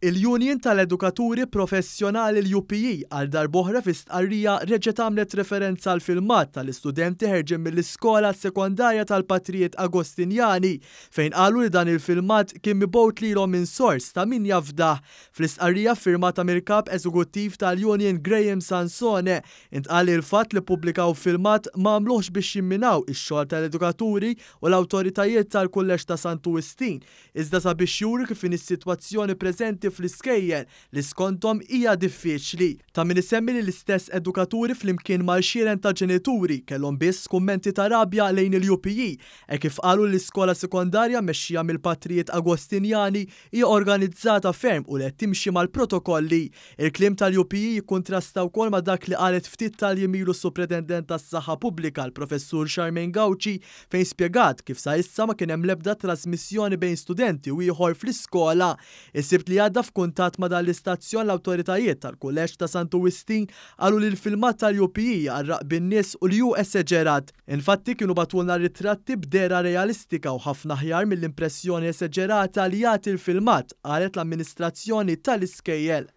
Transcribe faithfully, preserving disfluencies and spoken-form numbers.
Il-Union tal-Edukaturi Professjonali, l-U P E, għal darb'oħra fi stqarrija reġgħet għamlet referenza għal filmat tal-istudenti ħerġin mill-iskola sekondarja tal-Patrijiet Agostinjani, fejn qalu li dan il-filmat kien mibgħut lilhom minn sors ta' min jafdah. Fl-istqarrija firmata mill-kap eżekuttiv tal-Union Graham Sansone intqal li l-fatt li pubblikaw filmat ma għamluhx biex jimminaw ix-xogħol tal-edukaturi u l-awtoritajiet tal-Kulleġġ ta' Santu Wistin, iżda sabiex juri kif in is-sitwazzjoni preżenti fl-iskejjel li skontom hija diffiċli. Ta' min isemmi li l-istess edukaturi flimkien mal-għexieren ta' ġenituri kellhom biss kummenti ta' rabja lejn il-U P E e kif qalu l-iskola sekondarja mexxija mill-Patrijiet Agostinjani hija organizzata ferm u li qed timxi mal-protokolli. Il-kliem tal-U P E jikkontrasta wkoll ma' dak li qalet ftit tal-jiem ilu s-Supretendent tas-Saħħa Pubblika, l-Professur Charmaine Gauci, fejn spjegat kif sa issa ma kien hemm l-ebda trasmissjoni bejn studenti u ieħor fl-iskola. Is-Sibt li għadda, f'kuntatt ma' dan l-istazzjon, l-awtoritajiet tal-Kulleġġ ta' Santu Wistin qalu li l-filmat tal-U P E għarraq bin-nies u li hu eseġerat. Infatti kienu bagħtulna ritratti b'dehra realistika u ħafna aħjar mill-impressjoni eseġerata li jagħti l-filmat, qalet l-amministrazzjoni tal-iskejjel.